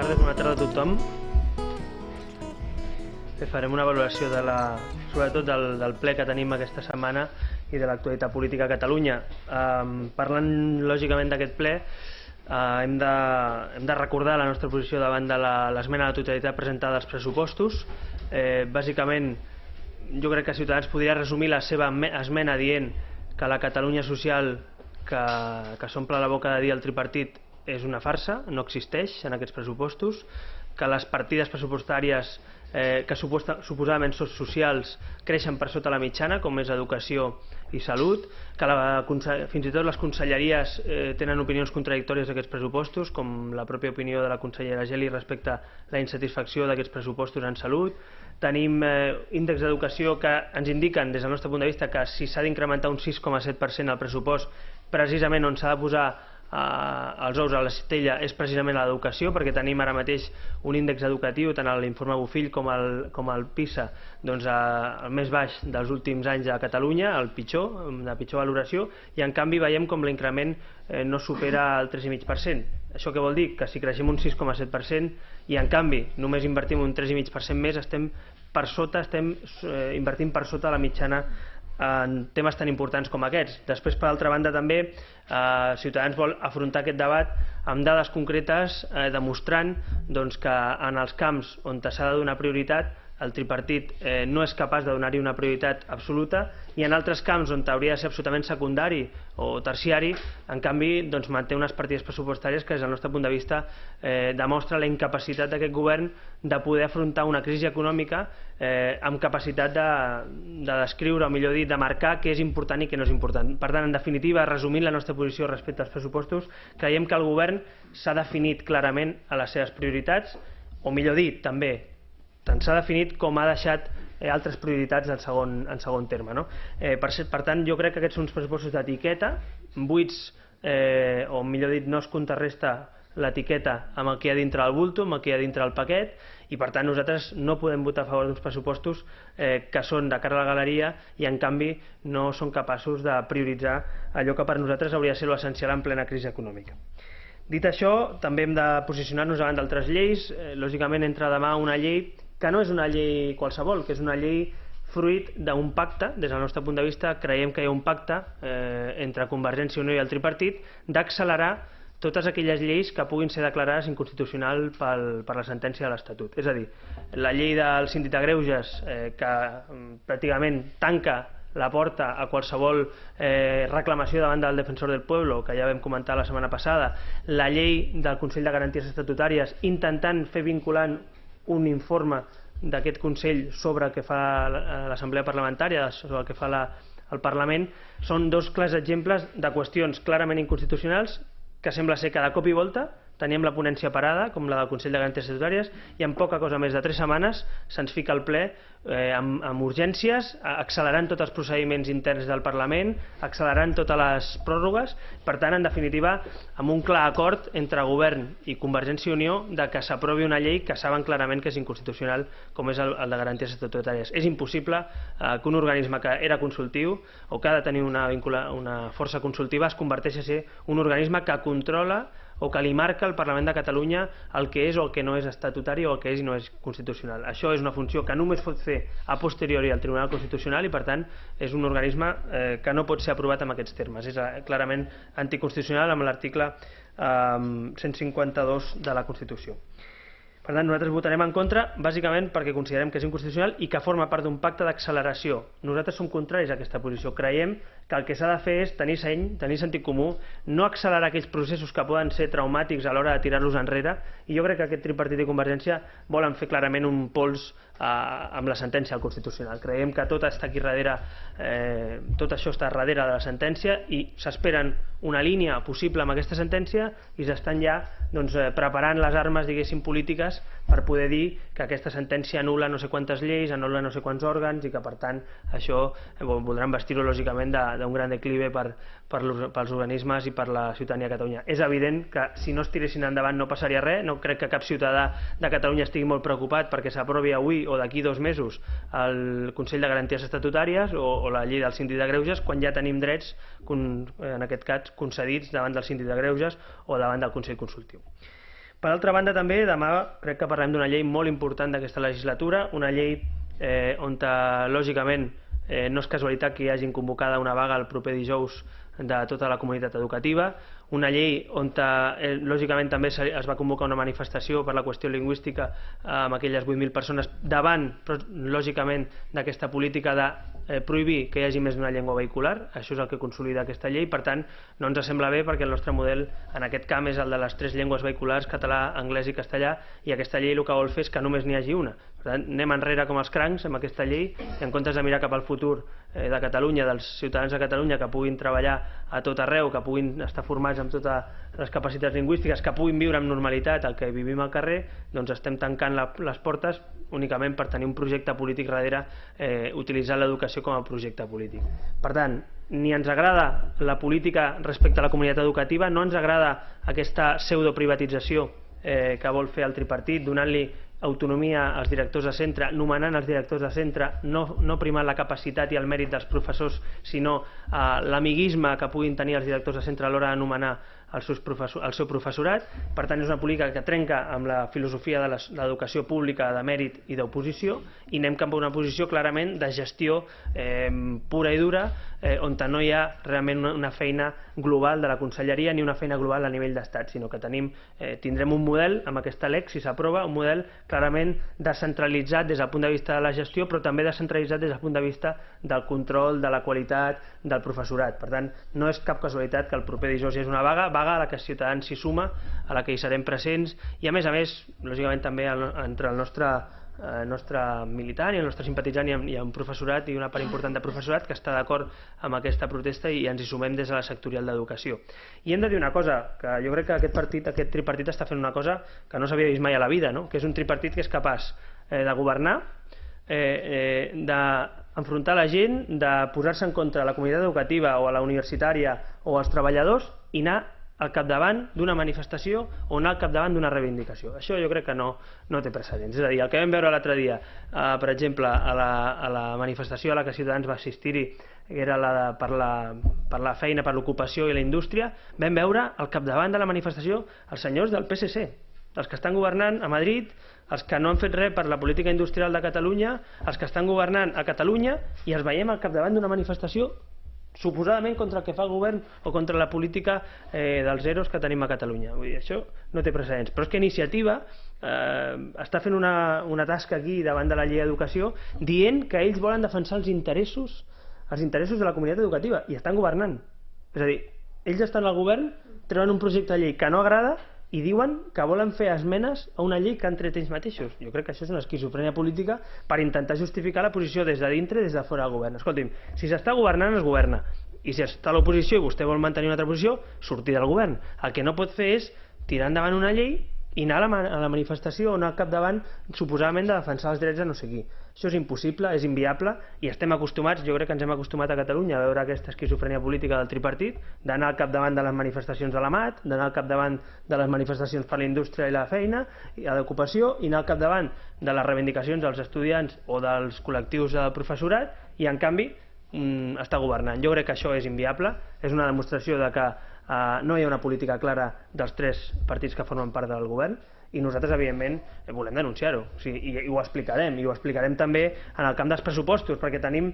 tardes, bona tarda a tothom. Farem una valoració sobretot del ple que tenim aquesta setmana i de l'actualitat política a Catalunya. Parlant lògicament d'aquest ple, hem de recordar la nostra posició davant de l'esmena a la totalitat presentada als pressupostos. Bàsicament, jo crec que Ciutadans podria resumir la seva esmena dient que la Catalunya social que s'omple la boca de dir el tripartit és una farsa, no existeix en aquests pressupostos, que les partides pressupostàries que suposadament són socials creixen per sota la mitjana, com és educació i salut, que fins i tot les conselleries tenen opinions contradictòries d'aquests pressupostos, com la pròpia opinió de la consellera Geli respecte a la insatisfacció d'aquests pressupostos en salut. Tenim índexs d'educació que ens indiquen, des del nostre punt de vista, que si s'ha d'incrementar un 6,7% el pressupost, precisament on s'ha de posar els ous a la cistella és precisament a l'educació, perquè tenim ara mateix un índex educatiu, tant a l'informe Bofill com al PISA, el més baix dels últims anys a Catalunya, el pitjor, de pitjor valoració, i en canvi veiem com l'increment no supera el 3,5%. Això què vol dir? Que si creixem un 6,7% i en canvi només invertim un 3,5% més, estem invertint per sota la mitjana en temes tan importants com aquests. Després, per altra banda, també Ciutadans vol afrontar aquest debat amb dades concretes demostrant que en els camps on s'ha de donar prioritat el tripartit no és capaç de donar-hi una prioritat absoluta, i en altres camps on hauria de ser absolutament secundari o terciari, en canvi manté unes partides pressupostàries que des del nostre punt de vista demostra la incapacitat d'aquest govern de poder afrontar una crisi econòmica amb capacitat de descriure, o millor dit, de marcar què és important i què no és important. Per tant, en definitiva, resumint la nostra posició respecte als pressupostos, creiem que el govern s'ha definit clarament a les seves prioritats, o millor dit, també tant s'ha definit com ha deixat altres prioritats en segon terme. Per tant, jo crec que aquests són uns pressupostos d'etiqueta, buits, o millor dit, no es contrarresta l'etiqueta amb el que hi ha dintre del bulto, amb el que hi ha dintre del paquet, i per tant nosaltres no podem votar a favor d'uns pressupostos que són de cara a la galeria i en canvi no són capaços de prioritzar allò que per nosaltres hauria de ser l'essencial en plena crisi econòmica. Dit això, també hem de posicionar-nos davant d'altres lleis. Lògicament entra demà una llei que no és una llei qualsevol, que és una llei fruit d'un pacte. Des del nostre punt de vista creiem que hi ha un pacte entre Convergència i Unió i el tripartit d'accelerar totes aquelles lleis que puguin ser declarades inconstitucionals per la sentència de l'Estatut. És a dir, la llei del síndic de greuges, que pràcticament tanca la porta a qualsevol reclamació davant del defensor del pueblo, que ja vam comentar la setmana passada, la llei del Consell de Garanties Estatutàries, intentant fer vinculant un informe d'aquest Consell sobre el que fa l'Assemblea Parlamentària, sobre el que fa el Parlament, són dos clars exemples de qüestions clarament inconstitucionals que sembla ser que de cop i volta teníem la ponència parada, com la del Consell de Garanties Estatutàries, i en poca cosa més de 3 setmanes se'ns fica al ple amb urgències, accelerant tots els procediments interns del Parlament, accelerant totes les pròrrogues. Per tant, en definitiva, amb un clar acord entre Govern i Convergència i Unió de que s'aprovi una llei que saben clarament que és inconstitucional, com és el de Garanties Estatutàries. És impossible que un organisme que era consultiu o que ha de tenir una força consultiva es converteixi a ser un organisme que controla o que li marca al Parlament de Catalunya el que és o el que no és estatutari o el que és i no és constitucional. Això és una funció que només pot fer a posteriori al Tribunal Constitucional i per tant és un organisme que no pot ser aprovat en aquests termes. És clarament anticonstitucional amb l'article 152 de la Constitució. Per tant, nosaltres votarem en contra bàsicament perquè considerem que és inconstitucional i que forma part d'un pacte d'acceleració. Nosaltres som contraris a aquesta posició. Creiem que el que s'ha de fer és tenir seny, tenir sentit comú, no accelerar aquells processos que poden ser traumàtics a l'hora de tirar-los enrere, i jo crec que aquest tripartit i Convergència volen fer clarament un pols amb la sentència del Constitucional. Creiem que tot està aquí darrere, tot això està darrere de la sentència i s'esperen una línia possible amb aquesta sentència i s'estan ja preparant les armes, diguéssim, polítiques per poder dir que aquesta sentència anul·la no sé quantes lleis, anul·la no sé quants òrgans i que per tant això voldran vestir-ho lògicament d'un gran declive pels organismes i per la ciutadania de Catalunya. És evident que si no es tiressin endavant no passaria res. No crec que cap ciutadà de Catalunya estigui molt preocupat perquè s'aprovi avui o d'aquí 2 mesos el Consell de Garanties Estatutàries o la llei del síndic de greuges, quan ja tenim drets, en aquest cas, concedits davant del síndic de greuges o davant del Consell Consultiu. Per altra banda, també, demà crec que parlem d'una llei molt important d'aquesta legislatura, una llei on, lògicament, no és casualitat que hi hagin convocada una vaga el proper dijous de tota la comunitat educativa, una llei on lògicament també es va convocar una manifestació per la qüestió lingüística amb aquelles 8.000 persones davant, lògicament, d'aquesta política de prohibir que hi hagi més d'una llengua vehicular. Això és el que consolida aquesta llei. Per tant, no ens sembla bé perquè el nostre model en aquest camp és el de les 3 llengües vehiculars, català, anglès i castellà, i aquesta llei el que vol fer és que només n'hi hagi una. Per tant, anem enrere com els crancs amb aquesta llei, i en comptes de mirar cap al futur de Catalunya, dels ciutadans de Catalunya, que puguin treballar a tot arreu, que puguin estar formats amb totes les capacitats lingüístiques, que puguin viure amb normalitat el que vivim al carrer, doncs estem tancant les portes únicament per tenir un projecte polític darrere, utilitzant l'educació com a projecte polític. Per tant, ni ens agrada la política respecte a la comunitat educativa, no ens agrada aquesta pseudoprivatització que vol fer el tripartit, donant-li autonomia als directors de centre, nomenant els directors de centre, no primant la capacitat i el mèrit dels professors, sinó l'amiguisme que puguin tenir els directors de centre a l'hora de nomenar el seu professorat. Per tant, és una política que trenca amb la filosofia de l'educació pública de mèrit i d'oposició, i anem cap a una posició clarament de gestió pura i dura, on no hi ha realment una feina global de la conselleria ni una feina global a nivell d'estat, sinó que tindrem un model amb aquesta LEC, si s'aprova, un model clarament descentralitzat des del punt de vista de la gestió, però també descentralitzat des del punt de vista del control, de la qualitat del professorat. Per tant, no és cap casualitat que el proper dijous hi hagi una vaga a la que Ciutadans s'hi suma, a la que hi serem presents, i a més, lògicament també entre el nostre militant i el nostre simpatitzant hi ha un professorat i una part important de professorat que està d'acord amb aquesta protesta, i ens hi sumem des de la sectorial d'educació. I hem de dir una cosa, que jo crec que aquest tripartit està fent una cosa que no s'havia vist mai a la vida, que és un tripartit que és capaç de governar, d'enfrontar la gent, de posar-se en contra de la comunitat educativa o a la universitària o als treballadors, i anar al capdavant d'una manifestació o anar al capdavant d'una reivindicació. Això jo crec que no té precedents. És a dir, el que vam veure l'altre dia, per exemple, a la manifestació a la que Ciutadans va assistir-hi, que era per la feina, per l'ocupació i la indústria, vam veure al capdavant de la manifestació els senyors del PSC, els que estan governant a Madrid, els que no han fet res per la política industrial de Catalunya, els que estan governant a Catalunya, i els veiem al capdavant d'una manifestació suposadament contra el que fa el govern o contra la política dels EROs que tenim a Catalunya. Vull dir, això no té precedents. Però és que Iniciativa està fent una tasca aquí davant de la llei d'educació dient que ells volen defensar els interessos de la comunitat educativa, i estan governant. És a dir, ells estan al govern, treuen un projecte de llei que no agrada i diuen que volen fer esmenes a una llei que han tret ells mateixos. Jo crec que això és una esquizofrènia política per intentar justificar la posició des de dintre i des de fora del govern. Escolti'm, si s'està governant, es governa. I si està a l'oposició i vostè vol mantenir una altra posició, sortir del govern. El que no pot fer és tirar endavant una llei i anar a la manifestació o anar al capdavant suposadament de defensar els drets de no sé qui. Això és impossible, és inviable, i estem acostumats, jo crec que ens hem acostumat a Catalunya a veure aquesta esquizofrènia política del tripartit, d'anar al capdavant de les manifestacions de la MAT, d'anar al capdavant de les manifestacions per la indústria i la feina i l'ocupació, i anar al capdavant de les reivindicacions dels estudiants o dels col·lectius del professorat, i en canvi està governant. Jo crec que això és inviable, és una demostració de que no hi ha una política clara dels 3 partits que formen part del govern, i nosaltres, evidentment, volem denunciar-ho, i ho explicarem també en el camp dels pressupostos, perquè tenim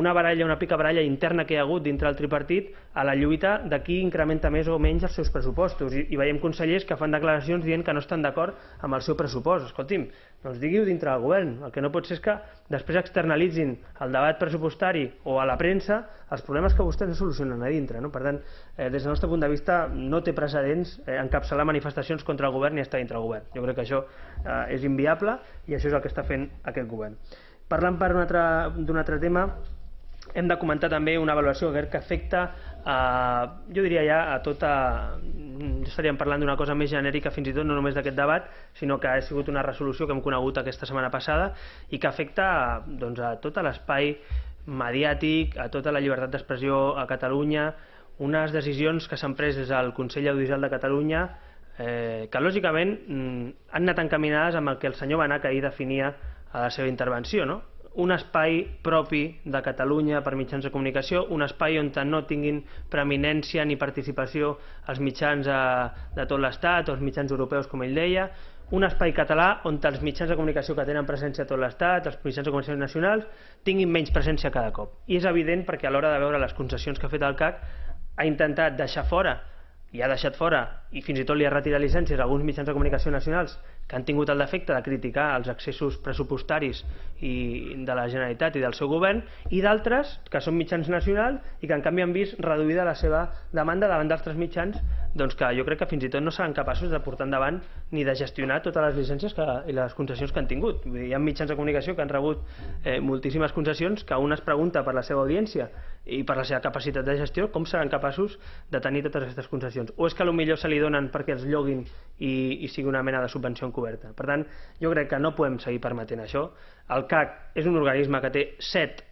una picabaralla interna que hi ha hagut dintre del tripartit a la lluita de qui incrementa més o menys els seus pressupostos, i veiem consellers que fan declaracions dient que no estan d'acord amb el seu pressupost. Escolti'm, doncs digui-ho dintre del govern. El que no pot ser és que després externalitzin el debat pressupostari o a la premsa els problemes que vostès no solucionen a dintre. Per tant, des del nostre punt de vista, no té precedents encapçalar manifestacions contra el govern i estar dintre del govern. Jo crec que això és inviable, i això és el que està fent aquest govern. Parlant d'un altre tema, hem de comentar també una avaluació que afecta, jo diria ja a tota... Estaríem parlant d'una cosa més genèrica fins i tot, no només d'aquest debat, sinó que ha sigut una resolució que hem conegut aquesta setmana passada i que afecta a tot l'espai mediàtic, a tota la llibertat d'expressió a Catalunya, unes decisions que s'han pres des del Consell Audiovisual de Catalunya que lògicament han anat encaminades amb el que el senyor Benach ahir definia a la seva intervenció, un espai propi de Catalunya per mitjans de comunicació, un espai on no tinguin preeminència ni participació els mitjans de tot l'Estat o els mitjans europeus, com ell deia, un espai català on els mitjans de comunicació que tenen presència a tot l'Estat, els mitjans de comunicació nacionals, tinguin menys presència cada cop. I és evident perquè a l'hora de veure les concessions que ha fet el CAC ha intentat deixar fora, i ha deixat fora, i fins i tot li ha retirat llicències a alguns mitjans de comunicació nacionals que han tingut el defecte de criticar els excessos pressupostaris de la Generalitat i del seu govern, i d'altres que són mitjans nacionals i que en canvi han vist reduïda la seva demanda davant d'altres mitjans, doncs que jo crec que fins i tot no seran capaços de portar endavant ni de gestionar totes les llicències i les concessions que han tingut. Hi ha mitjans de comunicació que han rebut moltíssimes concessions que un es pregunta per la seva audiència i per la seva capacitat de gestió com seran capaços de tenir totes aquestes concessions. O és que potser se li donen perquè els lloguin i sigui una mena de subvenció encoberta. Per tant, jo crec que no podem seguir permetent això. El CAC és un organisme que té 7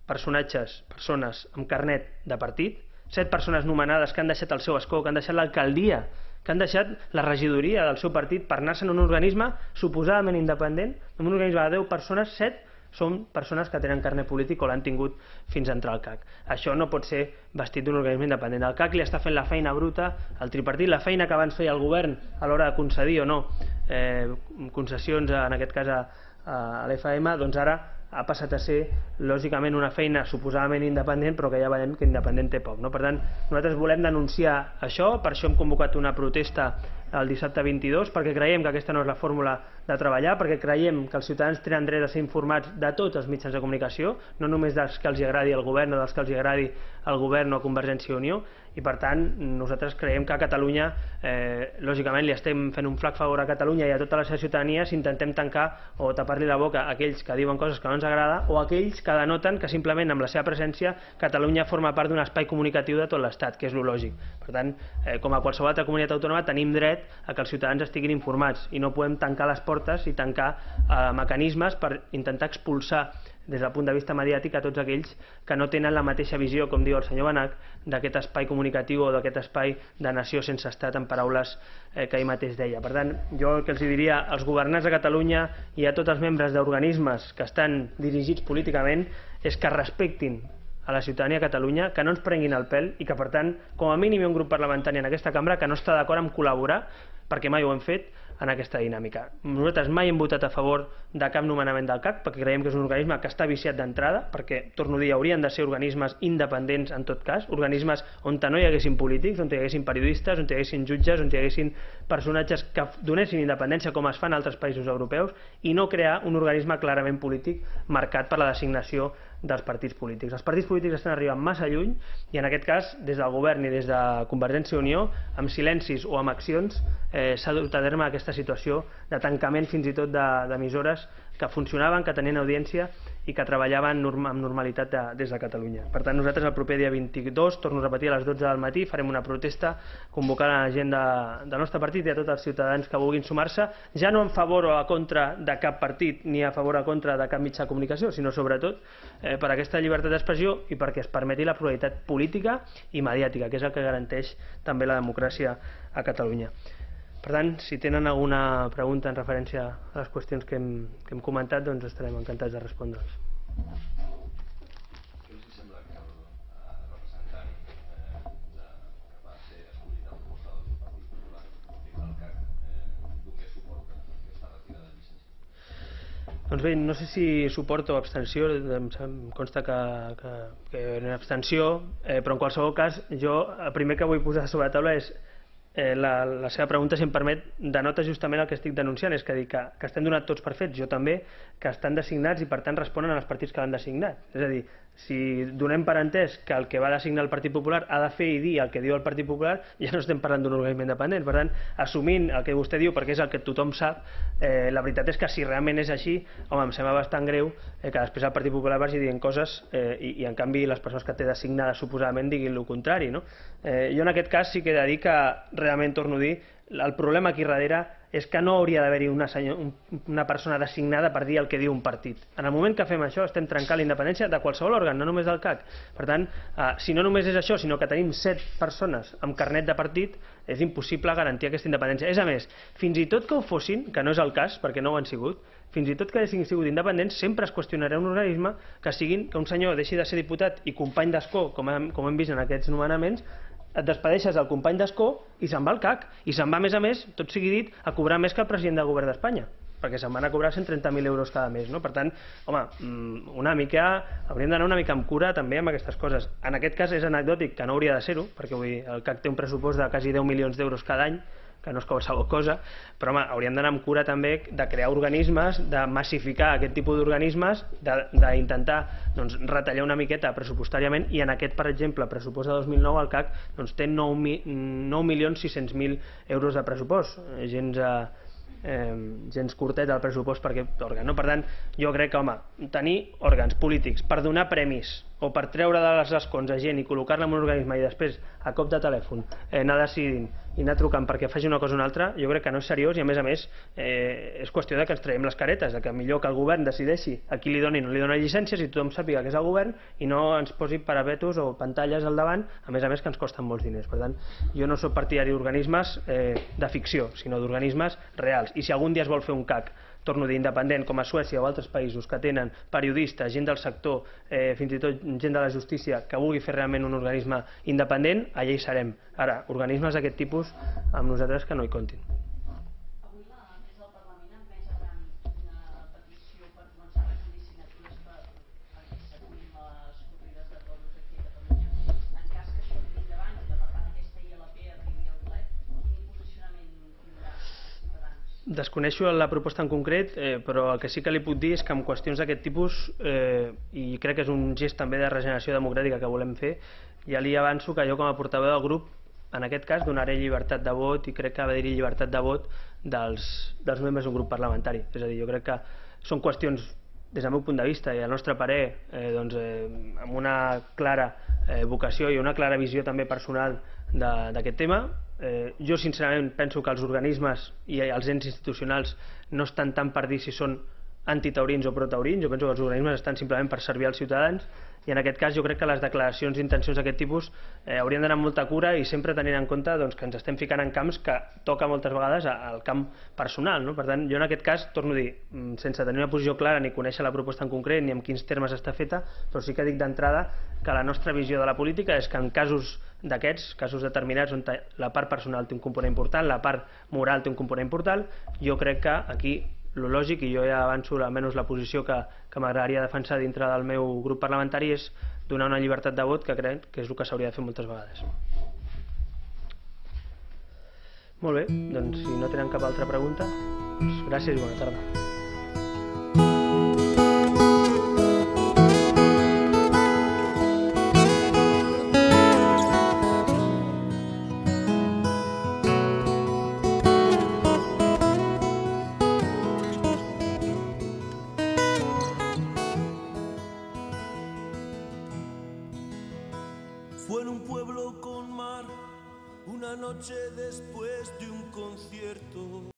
persones amb carnet de partit, 7 persones nomenades que han deixat el seu escó, que han deixat l'alcaldia, que han deixat la regidoria del seu partit per anar-se'n a un organisme suposadament independent, en un organisme de 10 persones, 7 són persones que tenen carnet polític o l'han tingut fins a entrar al CAC. Això no pot ser vestit d'un organisme independent. El CAC li està fent la feina bruta al tripartit, la feina que abans feia el govern a l'hora de concedir o no concessions, en aquest cas a l'FM, doncs ara ha passat a ser, lògicament, una feina suposadament independent, però que ja veiem que independent té poc. Per tant, nosaltres volem denunciar això, per això hem convocat una protesta el dissabte 22, perquè creiem que aquesta no és la fórmula de treballar, perquè creiem que els ciutadans tenen dret a ser informats de tots els mitjans de comunicació, no només dels que els agradi al govern o dels que els agradi al govern o a Convergència i Unió, i per tant nosaltres creiem que a Catalunya lògicament li estem fent un flac favor a Catalunya i a tota la seva ciutadania si intentem tancar o tapar-li la boca a aquells que diuen coses que no ens agrada o a aquells que denoten que simplement amb la seva presència Catalunya forma part d'un espai comunicatiu de tot l'Estat, que és lo lògic. Per tant, com a qualsevol altra comunitat autònoma tenim dret a que els ciutadans estiguin informats i no podem tancar les portes i tancar mecanismes per intentar expulsar des del punt de vista mediàtic a tots aquells que no tenen la mateixa visió, com diu el senyor Benach, d'aquest espai comunicatiu o d'aquest espai de nació sense estat, en paraules que ell mateix deia. Per tant, jo el que els diria als governants de Catalunya i a tots els membres d'organismes que estan dirigits políticament és que respectin a la ciutadania de Catalunya, que no ens prenguin el pèl i que, per tant, com a mínim hi ha un grup parlamentari en aquesta cambra que no està d'acord amb col·laborar, perquè mai ho hem fet, en aquesta dinàmica. Nosaltres mai hem votat a favor de cap nomenament del CAC perquè creiem que és un organisme que està viciat d'entrada, perquè, torno a dir, haurien de ser organismes independents en tot cas, organismes on no hi haguessin polítics, on hi haguessin periodistes, on hi haguessin jutges, on hi haguessin personatges que donessin independència com es fan a altres països europeus i no crear un organisme clarament polític marcat per la designació dels partits polítics. Els partits polítics estan arribant massa lluny i en aquest cas des del govern i des de Convergència i Unió amb silencis o amb accions s'ha dut a terme aquesta situació de tancament fins i tot d'emissores que funcionaven, que tenien audiència i que treballaven amb normalitat des de Catalunya. Per tant, nosaltres el proper dia 22, torno a repetir, a les 12 del matí farem una protesta convocant a la gent del nostre partit i a tots els ciutadans que vulguin sumar-se, ja no en favor o a contra de cap partit ni a favor o a contra de cap mitjà de comunicació, sinó sobretot per aquesta llibertat d'expressió i perquè es permeti la pluralitat política i mediàtica, que és el que garanteix també la democràcia a Catalunya. Per tant, si tenen alguna pregunta en referència a les qüestions que hem comentat, doncs estarem encantats de respondre'ls. Què els sembla que el representant que va ser escollit a proposta del Partit Popular, del CAC, donés suport a aquesta retirada de llicències? Doncs bé, no sé si suport o abstenció, em consta que era abstenció, però en qualsevol cas, jo el primer que vull posar sobre la taula és la seva pregunta, si em permet, denota justament el que estic denunciant, és que estem donats tots per fets, jo també, que estan designats i per tant responen als partits que l'han designat. És a dir, si donem per entès que el que va designar el Partit Popular ha de fer i dir el que diu el Partit Popular, ja no estem parlant d'un organisme independent. Per tant, assumint el que vostè diu perquè és el que tothom sap, la veritat és que si realment és així, home, em sembla bastant greu que després el Partit Popular vagi dient coses i en canvi les persones que té designades suposadament diguin el contrari, no? Jo en aquest cas sí que he de dir que realment, torno a dir, el problema aquí darrere és que no hauria d'haver-hi una persona designada per dir el que diu un partit. En el moment que fem això estem trencant la independència de qualsevol òrgan, no només del CAC. Per tant, si no només és això, sinó que tenim 7 persones amb carnet de partit, és impossible garantir aquesta independència. És a més, fins i tot que ho fossin, que no és el cas, perquè no ho han sigut, fins i tot que haguessin sigut independents, sempre es qüestionarà un organisme que un senyor deixi de ser diputat i company d'escó, com hem vist en aquests nomenaments, et despedeixes del company d'escó i se'n va al CAC. I se'n va, a més, tot sigui dit, a cobrar més que el president del govern d'Espanya, perquè se'n van a cobrar 130.000 euros cada mes, no? Per tant, home, hauríem d'anar una mica amb cura també amb aquestes coses. En aquest cas és anecdòtic, que no hauria de ser-ho, perquè el CAC té un pressupost de quasi 10 milions d'euros cada any, que no és qualsevol cosa, però home, hauríem d'anar amb cura també de crear organismes, de massificar aquest tipus d'organismes, d'intentar retallar una miqueta pressupostàriament, i en aquest, per exemple, pressupost de 2009 el CAC té 9.600.000 euros de pressupost, gens curtet el pressupost per aquest òrgan, no? Per tant, jo crec que, home, tenir òrgans polítics per donar premis o per treure de les escons a gent i col·locar-la en un organisme i després, a cop de telèfon, anar decidint i anar trucant perquè faci una cosa o una altra, jo crec que no és seriós, i a més és qüestió de que ens traiem les caretes, de que millor que el govern decideixi a qui li doni o no li dona llicències i tothom sàpiga que és el govern i no ens posi parapetos o pantalles al davant, a més que ens costen molts diners. Per tant, jo no soc partidari d'organismes de ficció, sinó d'organismes reals. I si algun dia es vol fer un CAC, torno a dir, independent, com a Suècia o altres països que tenen periodistes, gent del sector, fins i tot gent de la justícia, que vulgui fer realment un organisme independent, allà hi serem. Ara, organismes d'aquest tipus, amb nosaltres que no hi comptin. Avui la mesa del Parlament ha admès a tràmit una petició per començar a recollir signatures perquè s'aturin les corrides de toros aquí a Catalunya. En cas que això tiri endavant i que per tant aquesta ILP arribi al ple, quin posicionament tindrà Ciutadans? Desconeixo la proposta en concret, però el que sí que li puc dir és que en qüestions d'aquest tipus, i crec que és un gest també de regeneració democràtica que volem fer, ja li avanço que jo com a portaveu del grup, en aquest cas donaré llibertat de vot, i crec que ha d'haver-hi llibertat de vot dels membres d'un grup parlamentari. És a dir, jo crec que són qüestions, des del meu punt de vista i al nostre parer, amb una clara vocació i una clara visió també personal d'aquest tema. Jo sincerament penso que els organismes i els ens institucionals no estan tant per dir si són antitaurins o protaurins. Jo penso que els organismes estan simplement per servir als ciutadans, i en aquest cas jo crec que les declaracions d'intencions d'aquest tipus haurien d'anar amb molta cura i sempre tenint en compte que ens estem ficant en camps que toca moltes vegades al camp personal, no? Per tant, jo en aquest cas, torno a dir, sense tenir una posició clara ni conèixer la proposta en concret ni en quins termes està feta, però sí que dic d'entrada que la nostra visió de la política és que en casos d'aquests, casos determinats on la part personal té un component important, la part moral té un component important, jo crec que aquí el lògic, i jo ja avanço almenys la posició que m'agradaria defensar dintre del meu grup parlamentari, és donar una llibertat de vot, que crec que és el que s'hauria de fer moltes vegades. Molt bé, doncs si no tenen cap altra pregunta, gràcies i bona tarda. Fue en un pueblo con mar, una noche después de un concierto.